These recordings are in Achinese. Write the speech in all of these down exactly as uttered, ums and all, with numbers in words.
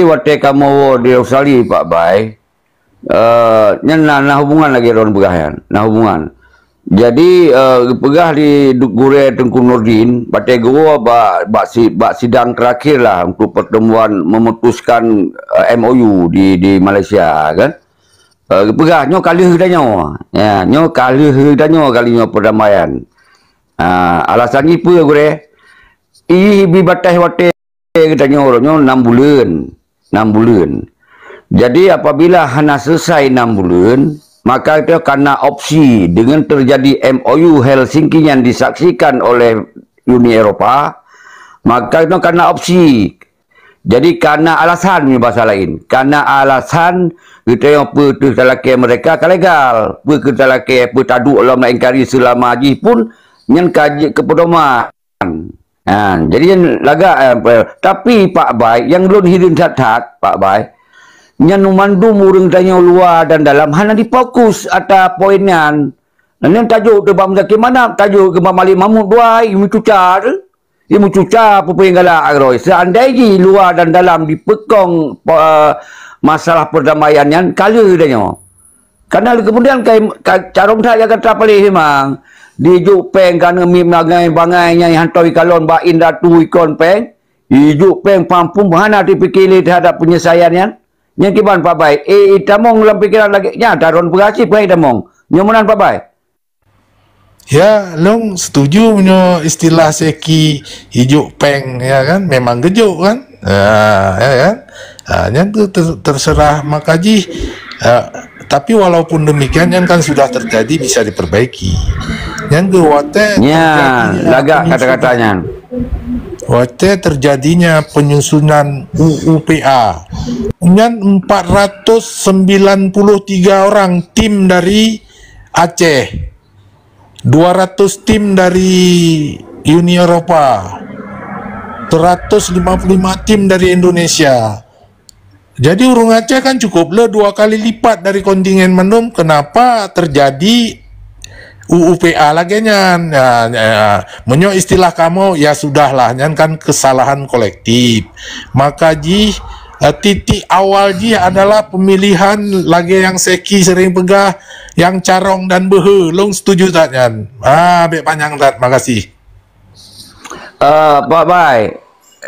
watée kamoe woe di Australia, Pak Bai, eh, nyan na, na hubungan lagée droen peugah nyan, na hubungan. Jadi, eh, geupeugah di du-, gurée Teungku Nurdin, watée geuwoe bak, bak si-, bak sidang terakhir lah untuk pertemuan memutuskan, eh, M O U di, di Malaysia, kan. Eh, geupeugah, "Nyoe ka lheueh tanyoe. Ya, nyoe ka lheueh tanyoe kali nyoe perdamaian." Ah, alasan jih peue, gurée? Ih, bi bataih watée geutanyoe uroe nyoe enam buleuen. Enam buleuen. Jadi, apabila hana selesai enam buleuen, maka itu kana opsi dengan terjadi M O U Helsinki yang disaksikan oleh Uni Eropa, maka itu kana opsi. Jadi, kana alasan, meunyoe bahasa lain. Kana alasan geutanyoe peue teuh talakée mereka ka legal. Peue keu talakée, peue taduek lom laén kali seulama jih pun, nyan ka jeuet keu pedoman. Ha, jadi nyan lagak, eh, pe-, tapi Pak Bai, nyang lôn hireuen that-that, Pak Bai, nyan mandum ureuëng tanyoe luwa dan dalam hana difokus ata poin nyan. Nyan tajok teuh bak Muzakir Manaf, tajok keu bak Malik Mahmud dua, imeum cuca teuh. Imeum cuca peue-peue nyang galak agroe. Seandai jih luwa dan dalam dipeukong, pe-, masalah perdamaian nyan, ka lheueh tanyoe. Karena kemudian kai, ka, carông that Jakarta paléh memang. Dijok péng ka neumiet bangai-bangai nyang hana teukalon bak indatu ikon péng. Dijok péng pampun hana teupike lé terhadap penyelesaian nyan. Nyang kiban Pak Bai, eh, itamong lam pikeran lagée nyan, taron peugah cit peue itamong. Nyoe meunan Pak Bai. Ya, lôn setuju meunyoe istilah seki ijok péng, ya kan? Memang gejok kan? Ha, ya kan? Ha, nyan tu ter-, terserah maka jih. Ha, tapi walaupun demikian, nyan kan sudah terjadi, bisa diperbaiki. Nyan ke watée Nya, terjadinya lagak penyusunan, kata-kata nyan. Watée terjadinya penyusunan U U P A. Nyan empat ratus sembilan puluh tiga orang tim dari Aceh, dua ratus tim dari Uni Eropa, seratus lima puluh lima tim dari Indonesia. Jadi ureuëng Aceh kan cukup le dua kali lipat dari kontingen mandum. Kenapa terjadi U U P A lagée nyan? Ya, ya, meunyoe istilah kamoe, ya sudahlah, nyan kan kesalahan kolektif. Maka jih, eh, titik awal jih adalah pemilihan lagée nyang seki sering peugah, nyang carông dan beuhe. Lôn setuju that nyan. Ah, bék panyang that. Makasih. Eh, Pak Bai,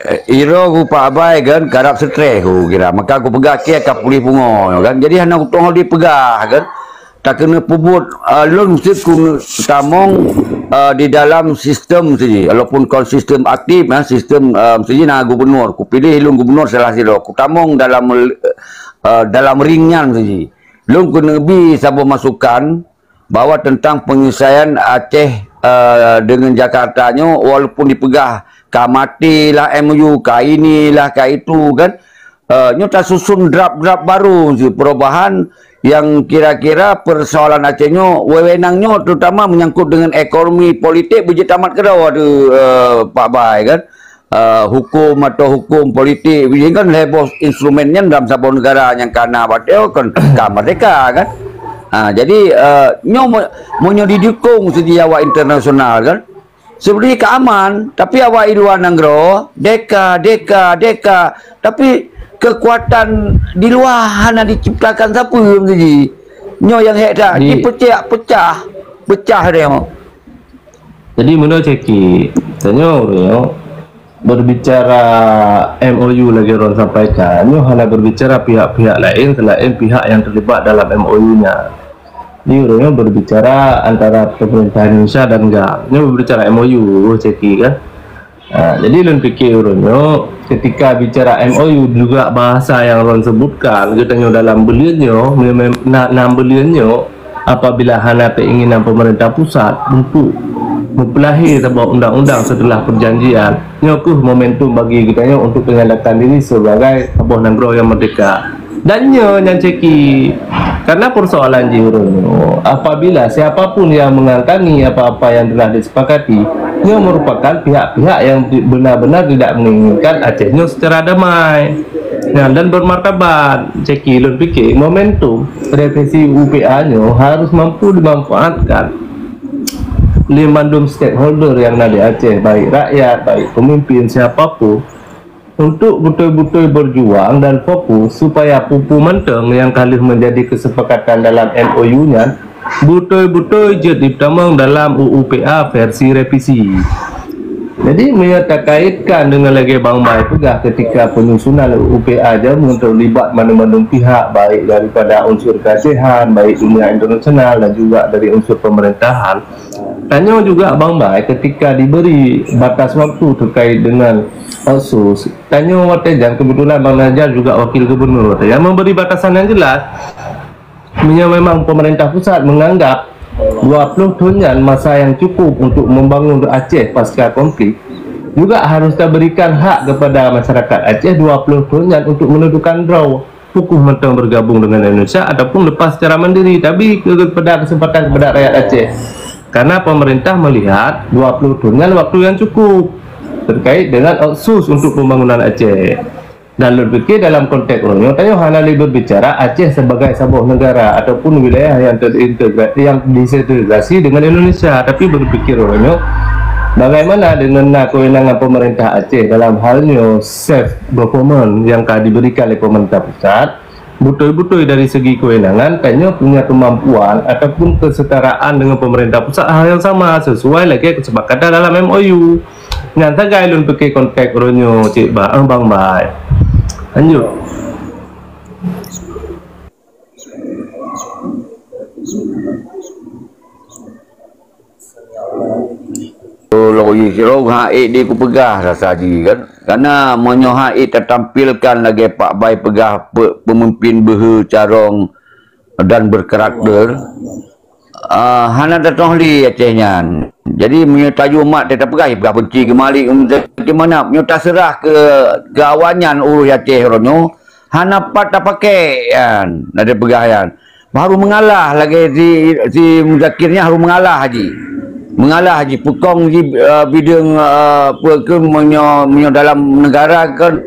eh, iro ku Pak Bai kan karab stres ku kira. Maka ku peugah ke ka pulih pungo kan. Jadi hana utong dipeugah kan. Tak kena pebut, eh, lôn mesti ku tamong, eh, di dalam sistem sini. Walaupun kon sistem aktif, eh, sistem, eh, sini na gubernur. Ku pilih lôn gubernur salah siro. Ku tamong dalam, eh, dalam ring nyan sini. Lôn kena bi saboh masukan bahwa tentang penyelesaian Aceh, eh, dengan Jakarta nyoe, walaupun dipeugah ka mati lah M O U, ka ini lah, ka itu kan. Eh, nyoe tasusun draft-draft baru sih, perubahan yang kira-kira persoalan Aceh nyoe, wewenang nyoe terutama menyangkut dengan ekonomi politik beujeuet tamat keudroe tu, eh, Pak Bai kan. Eh, hukum atau hukum politik, ini kan lhèe boh instrumen nyan dalam saboh negara nyang kana bateu kan ka merdeka kan. Ha, jadi, eh, nyoe me-, meunyoe didukung segi awak internasional kan, sebenarnya ka aman, tapi awak di luar nanggroe deka, deka, deka, tapi kekuatan di luar hana diciptakan siapa segi. Nyoe yang hek dah Di dipecah-pecah, pecah dia. Jadi meunurot Ceki, tanyoe ureuëng nyoe berbicara M O U lagée droen sampaikan, nyoe hana berbicara pihak-pihak lain selain pihak yang terlibat dalam M O U nya. Jadi ureuëng nyoe berbicara antara pemerintah Indonesia dan GAM. Nyoe berbicara M O U, Ceki kan. Ha, jadi lôn pikir ureuëng nyoe ketika bicara M O U juga bahasa yang droen sebutkan, geutanyoe dalam buleuen nyoe, mem-, na-, nam buleuen nyoe, apabila hana keinginan pemerintah pusat untuk meupeulahé saboh undang-undang setelah perjanjian, nyoe kheueh momentum bagi geutanyoe untuk menyatakan diri sebagai saboh nanggroe yang merdeka. Dan nyoe nyang Ceki, karena persoalan jih ureuëng nyoe, apabila siapa pun yang mengantangi apa-apa yang telah disepakati, nyoe merupakan pihak-pihak yang benar-benar tidak menginginkan Aceh nyoe secara damai. Nah, dan bermartabat, Ceki, lôn pikir momentum revisi U U P A nyoe harus mampu dimanfaatkan lé mandum stakeholder yang na di Aceh, baik rakyat, baik pemimpin, siapa pun, Untuk beutôi-beutôi berjuang dan fokus supaya peue-peue mantong nyang ka lheueh menjadi kesepakatan dalam M O U nyan beutôi-beutôi jeuet jipeutamong dalam U U P A versi revisi. Jadi, meunyoe takaitkan deungon lagée Bang Bai peugah, ketika penyusunan U U P A jameun teulibat mandum-mandum pihak, baik daripada unsur keacehan, baik dunia internasional dan juga dari unsur pemerintahan. Tanyoe juga Bang Bai, ketika diberi batas waktu terkait dengan otsus, tanyoe watée nyan kebetulan Bang Najjar juga wakil gubernur watée nyan memberi batasan yang jelas. Meunyoe memang pemerintah pusat menganggap dua puluh thon nyan masa yang cukup untuk membangun Aceh pasca konflik, juga harus taberikan hak kepada masyarakat Aceh dua puluh thon nyan untuk menentukan droe, pukoh mantong bergabung dengan Indonesia ataupun lepas secara mandiri, tapi kepada kesempatan kepada rakyat Aceh. Karena pemerintah melihat dua puluh thon nyan waktu yang cukup terkait dengan otsus untuk pembangunan Aceh. Dan lôn pikir dalam konteks uroe nyoe, tanyoe hana lé berbicara Aceh sebagai saboh negara ataupun wilayah yang terintegra-, yang disintegrasi dengan Indonesia, tapi berpikir uroe nyoe, bagaimana dengan na kewenangan pemerintah Aceh dalam hal nyoe self government yang ka diberikan oleh pemerintah pusat, beutôi-beutôi dari segi kewenangan, tanyoe punya kemampuan ataupun kesetaraan dengan pemerintah pusat hal yang sama sesuai lagée kesepakatan dalam M O U. Nyan sagai lôn pike konteks uroe nyoe, Cik Ba, eh, Bang Bai. Lanjut. Lôn jih sidroe hana ék di kupeugah rasa jih kan. Karena meunyoe hana ék tatampilkan lagée Pak Bai peugah pe-, pemimpin beuhe carông dan berkarakter, ah, hana tatu'oh lé Aceh nyan. Jadi, meunyoe tajak mat teupeugah, peugah benci keu Malik, di mana? Meunyoe taseurah keu, keu awaknyan urus Aceh uroe nyoe, hana pat tapaké nyan, na teupeugah nyan. Harôh meungalah lagée si, si Muzakir nyan harôh meungalah jih. Meungalah jih, peukong jih, eh, bideueng, eh, peue keuh meunyoe, meunyoe dalam negara kan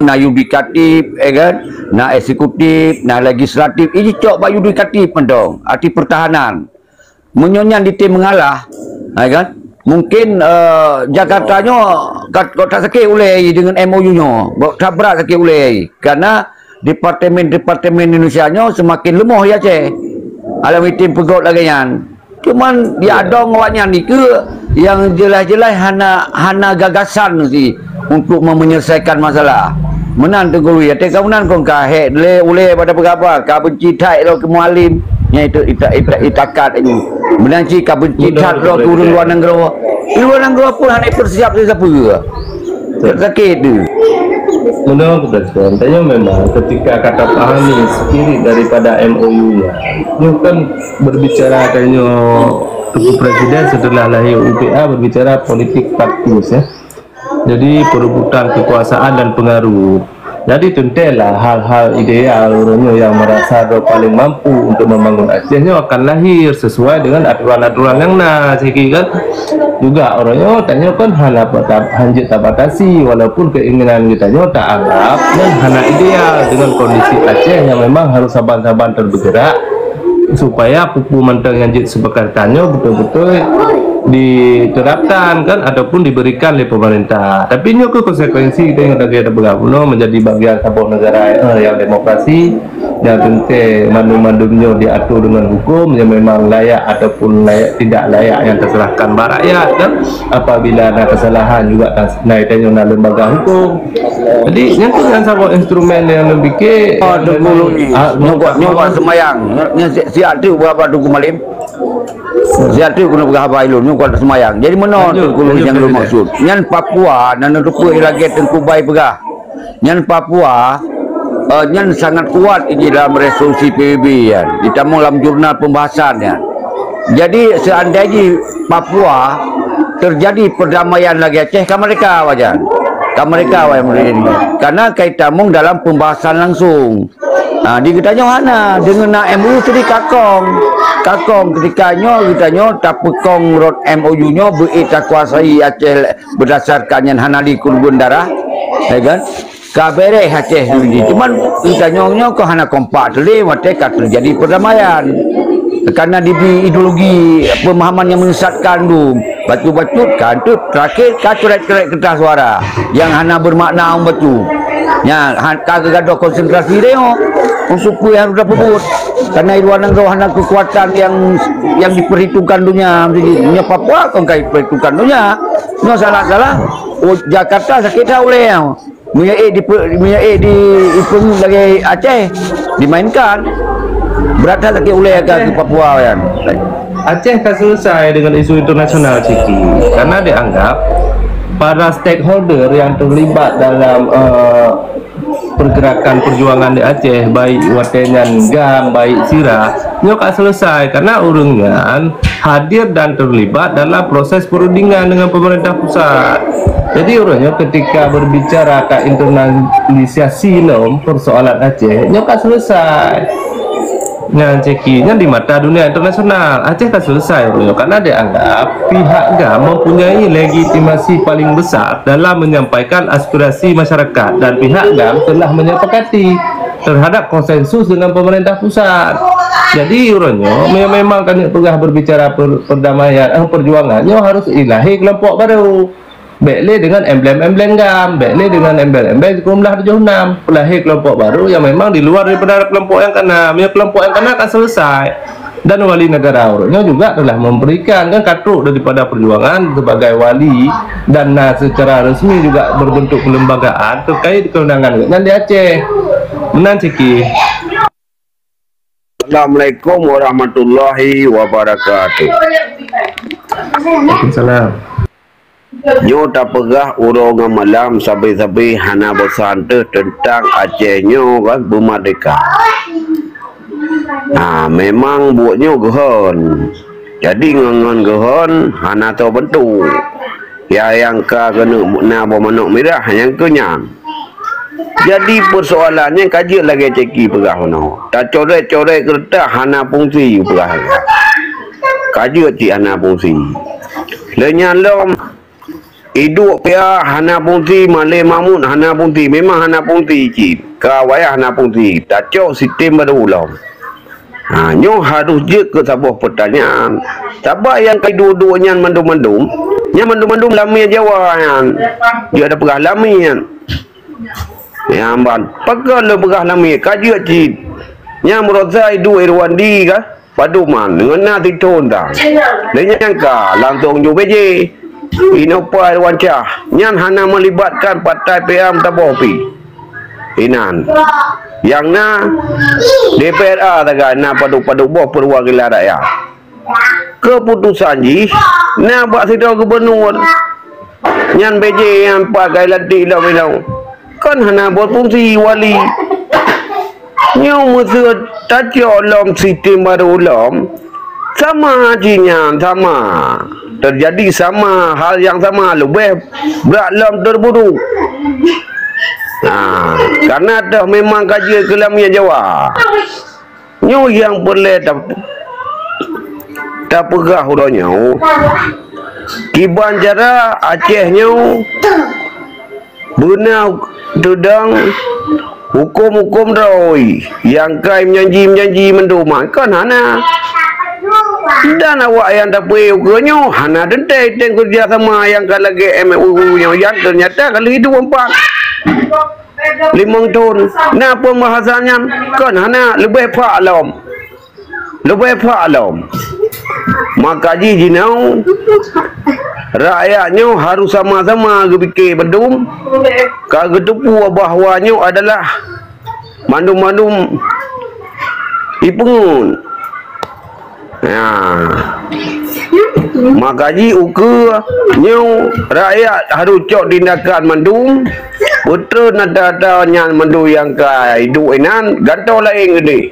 na yudikatif, eh kan, na eksekutif, na legislatif. Ini cok bak yudikatif mantong, arti pertahanan. Meunyoe nyan ditem meungalah, eh kan, mungkin, eh, Jakarta nyoe ka, ka tasakét ulée deungon M O U nyoe, ka tabrat sakét ulée. Karena departemen-departemen Indonesia nyoe seumaken leumoh di Aceh. Alam item peugét lagée nyan. Cuman di adong awaknyan nikeue nyang jeulaih-jeulaih hana, hana gagasan sih untuk me-, menyelesaikan masalah. Meunan Teungku Lui, até ka meunan kon ka hék lé ulée pada peugah, ka benci that lom keu Mualem. Nyan itu ita-, ita-, itakat nyoe. Meunan cit ka benci that lom keu ureuëng luwa nanggroe. Di luwa nanggroe pun hana persiap sapeue. Sakét tu. Menurut Presiden, tanya memang ketika kata pahami spirit daripada M O U nya, itu kan berbicara tanya Teungku Presiden setelah lahir U P A berbicara politik praktis, ya. Jadi perebutan kekuasaan dan pengaruh. Jadi teuntailah hal-hal ideal uroe nyoe nyang merasa droe paling mampu untuk membangun Aceh nyoe akan lahir sesuai dengan aturan-aturan nyang na sigi kan. Juga uroe nyoe tanyoe kan hana bata-, hanjeuet tabatasi walaupun keinginan geutanyoe taanggap nyan hana ideal dengan kondisi Aceh nyang memang harus saban-saban terbergerak supaya peue-peue mantong nyang jeuet seupakatan nyoe beutôi-beutôi diterapkan kan ataupun diberikan oleh pemerintah. Tapi nyoe keuh konsekuensi kita yang lagi ada bergabung menjadi bagian saboh negara, eh, yang demokrasi, yang teuntée mandum-mandum nyoe diatur dengan hukum yang memang layak ataupun layak, tidak layak yang terserahkan bak rakyat kan. Apabila ada kesalahan juga tas-, na tanyoe na lembaga hukum. Jadi, nyan tu nyang saboh instrumen nyang lôn pike. Oh, Teungku Lui. Ah, nyoe buat, nyoe buat seumayang. Nyoe si-, siat tu buat apa Teungku Mualem? Siat tu keuneuk peugah haba ilôn, nyoe buat seumayang. Jadi, meunoe Teungku Lui nyang lôn maksud. Nyan Papua, na neuteupeue lagée Teungku Bai peugah. Nyan Papua, eh, nyan sangat kuat di dalam resolusi P B B nyan. Ditamong lam jurnal pembahasan nyan. Jadi, seandai jih Papua terjadi perdamaian lagée Aceh, ka merdeka wajan. Ka merdeka wajan merdeka. Karena ka itamong dalam pembahasan langsung. Ha, di geutanyoe hana, deungon na M O U tadi kakong. Kakong ketika nyoe geutanyoe tapeukong rot M O U nyoe beu takuasai Aceh berdasarkan nyan hana dikurban darah. Ya kan? Ka beres Aceh nyoe. Cuman geutanyoe nyoe kok hana kompak teuh lé, watée ka terjadi perdamaian. Karena dibri ideologi pemahaman yang menyesatkan tu, bacut-bacut kan tu terakhir ka coret-coret kertas suara yang hana bermakna orang bacut. Nya ha-, ka geugadoh konsentrasi deh, oh. Unsur pue harus dapat buat. Karena di luar negara hana kekuatan yang yang diperhitungkan dunia. Jadi, nya Papua kan ka diperhitungkan dunia. Nya salah-salah, oh, Jakarta sakit dah oleh. Meunyoe di, meunyoe di, ipeungeut lagèe Aceh dimainkan, berat that sakét ulèe ka keu Papua nyan. Aceh ka selesai dengan isu internasional, Ciki, karena dianggap para stakeholder yang terlibat dalam, eh, pergerakan perjuangan di Aceh, baik watèe nyan GAM, baik SIRA, nyoe ka selesai karena ureueng nyan hadir dan terlibat dalam proses perundingan dengan pemerintah pusat. Jadi, ureueng nyoe ketika berbicara ka internalisasi lom persoalan Aceh, nyoe ka selesai. Nyan Ciki, nyan di mata dunia internasional, Aceh ka selesai ureueng nyoe karena dianggap pihak GAM mempunyai legitimasi paling besar dalam menyampaikan aspirasi masyarakat dan pihak GAM telah menyepakati terhadap konsensus dengan pemerintah pusat. Jadi, ureueng nyoe me-, memang ka neuk peugah berbicara per-, perdamaian, eh, perjuangan, nyoe harus ilahé kelompok baru. Bèk lé dengan emblem-emblem GAM, bèk lé dengan emblem-emblem sikureueng blah tujoh enam. Peulahé kelompok baru yang memang di luar daripada kelompok yang kana. Meunyoe kelompok yang kana ka selesai. Dan wali negara ureueng nyoe juga telah memberikan, kan, ka trok daripada perjuangan sebagai wali dan na secara resmi juga berbentuk kelembagaan terkait kewenangan gobnyan di Aceh. Meunan Ciki. Assalamualaikum warahmatullahi wabarakatuh. Waalaikumsalam. Nyoe tapeugah uroe ngon malam sabe-sabe hana bosan teuh teuntang Aceh nyoe kan beumerdeka. Ha, memang buet nyoe geuhon. Jadi ngon-ngon geuhon hana toe beuntuk. Ya nyang ka keuneuk na boh manok mirah nyang keu nyan. Jadi, peusoalan nyan ka jeuet lagèe Ceki peugah bunoe. Tacoret-coret keureutah hana fungsi peugah. Ka jeuet cit hana fungsi. Lé nyan lom, iduek pia hana fungsi, malèe mamut hana fungsi, memang hana fungsi cit. Ka wayah hana fungsi, tacok sistem baru lom. Ha, nyoe harôh jeuet keu saboh peutanyaan. Sabab nyang ka iduek-duek nyan mandum-mandum, nyan mandum-mandum lamé Jawa nyan. Jeuet tapeugah lamé nyan. Nyan ban. Pakon lôn peugah lamé, ka jeuet cit. Nyan meurasa iduek Irwandi ka, padum man, ngon na sithôn ta. Lé nyan ka langsông ju B J. Inoe pai Irwan Syah, nyan hana meulibatkan partai P A M saboh pih. Inan. Nyang na D P R A sagai na padub-padub boh peuwakilan rakyat. Keuputosan jih na bak sidroe gubunur. Nyan B J nyang pat ka ilantik lom inoe. Kon hana boh fungsi wali. Nyoe meuseuet tacok lom sistem baru lom, sama jih nyan, sama. Teujadi sama, hal nyang sama, leubeh brat lom teuburuk. Ha, karena toh memang ka jeuet keu lamé Jawa. Nyoe nyang peureulèe ta-, tapeugah uroe nyoe. Kiban cara Aceh nyoe beuna teudong huköm-huköm droe nyang kai meujanji-meujanji mandum, kon hana. Dan awak nyang tapeu ukeue nyoe hana teuntèe teng keureuja sama nyang ka lagèe M O U nyoe, nyang teunyata ka lheueh duek empat limong thôn. Na pembahasan nyan kon hana, leubeh phak lom. Leubeh phak lom. Maka jih jinoe, rakyat nyoe harôh sama-sama geupike bandum, ka geuteupeue bahwa nyoe adalah mandum-mandum ipeungeut. Ya. Maka jih ukeue nyoe rakyat harôh cok tindakan mandum, peutrön ata-ata nyan mandum nyang ka iduek inan, gantoe laén keudeh.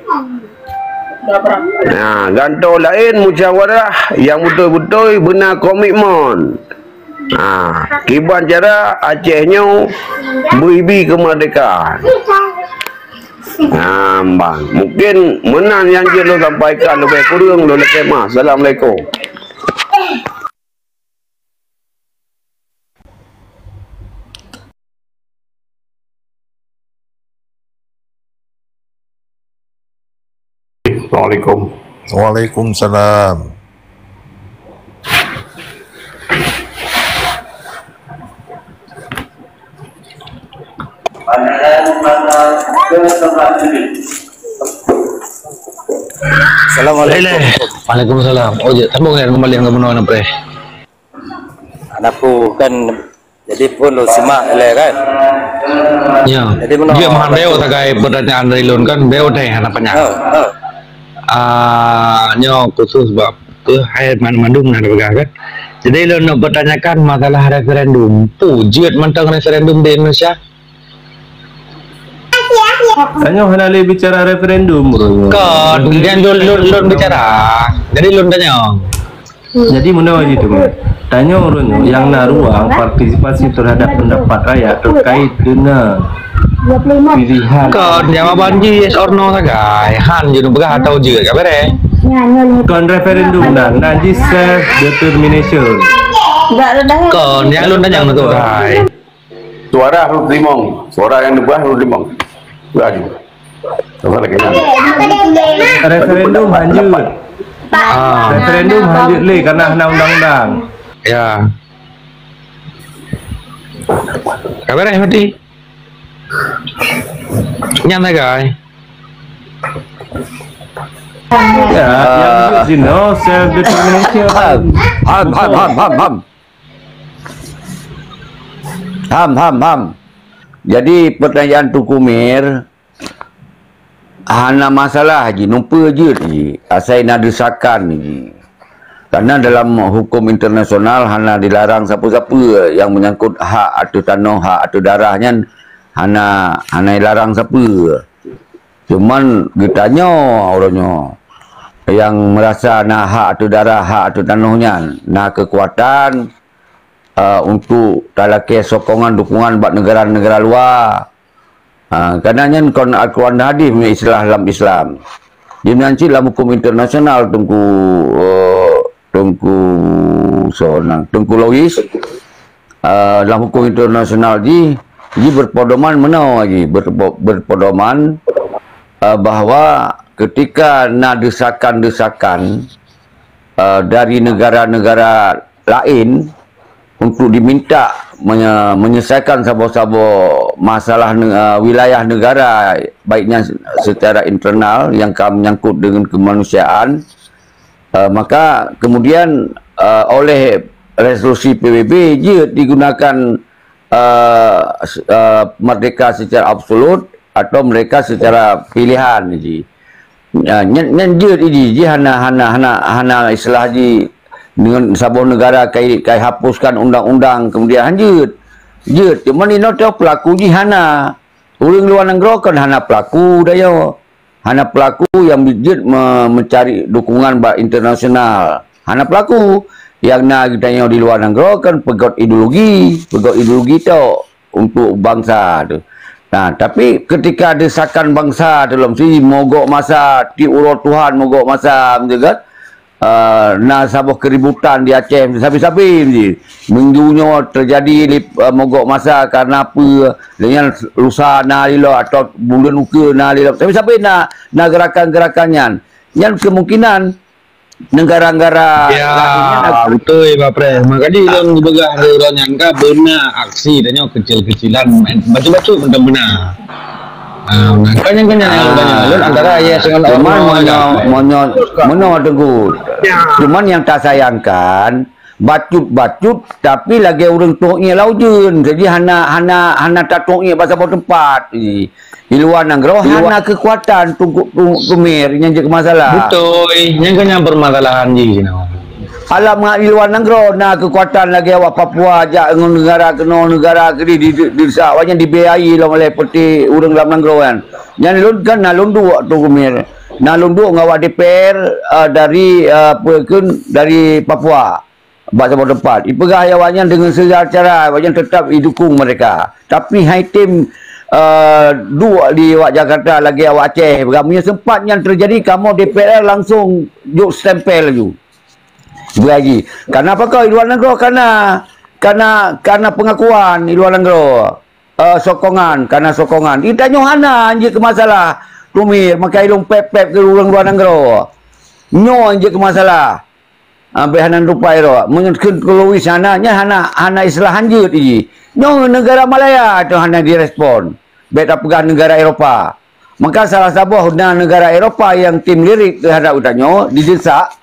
Ha, gantoe laén musyawarah nyang beutôi-beutôi beuna komitmen. Ha, kiban cara Aceh nyoe beuibi keumeurdekaan. Ha, ban. Mungkin meunan nyang jeuet lôn sampaikan, leubeh kureueng lôn lakèe meu'ah. Assalamualaikum. Assalamualaikum. Waalaikumsalam. Assalamualaikum. Waalaikumsalam. Oh, jeuet. Sambung ya kembali dengan Benua Napre. Anak ku kan jadi pun lo simak le kan. Ya. Jadi menurut Dia mahan beo tagai pertanyaan dari lôn kan beo deh hana panyang. Ha, ha. Ah, nyoe khusus bab ke hai mandum na peugah kan. Jadi lôn nak bertanyakan masalah referendum. Pu jeuet mantong referendum di Indonesia? Tanyoe hana lé bicara referendum, bro. Kon, kemudian lôn, lôn, lôn bicara. Jadi lôn tanya. Jadi meunoe jih tu, tanyoe ureueng nyang na ruang partisipasi terhadap pendapat rakyat terkait dengan pilihan. Kon, jawaban jih yes or no sagai. Han jih peugah atau jeuet ka bereh. Kon referendum dan na jih self determination. Kon, nyang lôn tanya untuk hai. Suara harus limong. Suara yang dibuat harus limong. Suara juga. Suara lagi enam. Referendum hanjeuet. Ah. Referendum hanjeuet lé karena hana undang-undang. Ya. Ka bereh berarti. Nyan sagai. Ya, yang jeuet jinoe self determination. Ham, ham, ham, ham, ham. Ham, ham, ham. Jadi pertanyaan Teungku Mir, hana masalah jih, numpeue jeuet jih, asai na desakan jih. Karena dalam hukum internasional hana dilarang sapeue-sapeue yang menyangkut hak ateueh tanoh, hak ateueh darah nyan hana, hana dilarang sapeue. Cuman geutanyoe uroe nyoe yang merasa na hak ateueh darah, hak ateueh tanoh nyan, na keukuatan, eh, untuk talakée sokongan dukungan bak negara-negara luwa. Ha, karena nyan kon Al-Quran dan hadis meunyoe istilah lam Islam. Di nan cit lam hukum internasional Teungku, eh, Teungku Sonang, Teungku Lois, eh, lam hukum internasional jih, jih berpedoman meunoe jih, berpo-, berpedoman, eh, bahwa ketika na desakan-desakan, eh, dari negara-negara lain untuk diminta menye-, menyelesaikan saboh-saboh masalah ne-, eh, wilayah negara, baiknya secara internal yang ka menyangkut dengan kemanusiaan, eh, maka kemudian, eh, oleh resolusi P B B jeuet digunakan, eh, s-, eh, merdeka secara absolut atau merdeka secara pilihan jih. Ya, nyan, nyan jeuet jih, jih hana, hana, hana, hana istilah jih dengan saboh negara kai, kai hapuskan undang-undang kemudian han jeuet. Jeuet, cuma inoe pelaku jih hana. Ureueng luwa nanggroe kan hana pelaku dayoe. Hana pelaku yang jeuet me-, mencari dukungan bak internasional. Hana pelaku. Yang na geutanyoe di luwa nanggroe kan peugöt ideologi, peugöt ideologi tok untuk bansa tu. Nah, tapi ketika desakan bansa tu lom si mogok masa, tiep uroe Tuhan mogok masa, betul kan? Eh, na saboh keributan di Aceh, sabe-sabe ji. Minggu nyoe terjadi li-, eh, mogok masa karena apa? Dengan lusa na lilo atau bulan uke na lilo. Sabe-sabe na, na gerakan-gerakan nyan. Nyan kemungkinan negara-negara lain nyan. Ya, betul, Pak Pres. Makanya lôn peugah lé uroe nyan ka beuna aksi tanyoe kecil-kecilan, bacut-bacut mantong beuna. Ah, makanya kan yang banyak lalu antara ayah dengan cuman Allah. Meunyoe, meunyoe, meunyoe Teungku. Ya. Cuman yang tasayangkan, bacut-bacut, tapi lagée ureueng tuek ié lam ujeuen. Jadi hana, hana, hana tatuek ié bak saboh teumpat. Di luwa nanggroe hana keukuatan Teungku, Teungku Mir, nyan jeuet keu masalah. Beutôi, nyan kan nyang peumasalahan jih. Alam ngat di luwa nanggroe na keukuatan lagée awak Papua jak ngon neugara keunoe, neugara keudeh di, di, di, di, awaknyan dibiayai lom oleh peuti ureueng lam nanggroe nyan. Nyan lôn kan na lôn duek Teungku Mir. Na lôn duek ngon awak D P R, eh, dari, eh, apa kheun, dari Papua. Bak saboh teumpat. Ipeugah awaknyan deungon segala cara, awaknyan tetap idukung mereka. Tapi hai tem, eh, duek di awak Jakarta lagée awak Aceh. Meunyoe sempat nyan terjadi, kamoe D P R langsung jok stempel laju. Bagi. Karena apa kau di luwa nanggroe? Karena, karena, karena pengakuan di luwa nanggroe. Eh, sokongan, karena sokongan. Di tanyoe hana jeuet keu masalah. Teungku Mir, maka ilong pep-pep keu ureueng luwa nanggroe. Nyoe jeuet keu masalah. Ah, bèk hana rupai ro. Meunyoe kheun keu Louis hana, nyan hana, hana istilah hanjeut jih. Nyoe neugara Malaya tu hana direspon. Bèk tapeugah neugara Eropa. Maka salah saboh na neugara Eropa nyang tem lirik teuhadap geutanyoe didesak,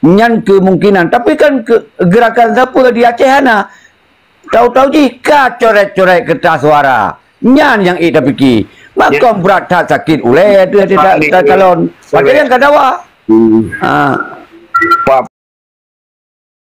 nyan kemungkinan. Tapi kan ke, gerakan sapeue di Aceh hana. Tahu-tahu jih ka coret-coret kertas suara. Nyan nyang ék tapike. Makon brat that sakét ulèe teuh hati ta-, ta-, calon. Padahai nyang ka dawa. Hmm. Ha. Pak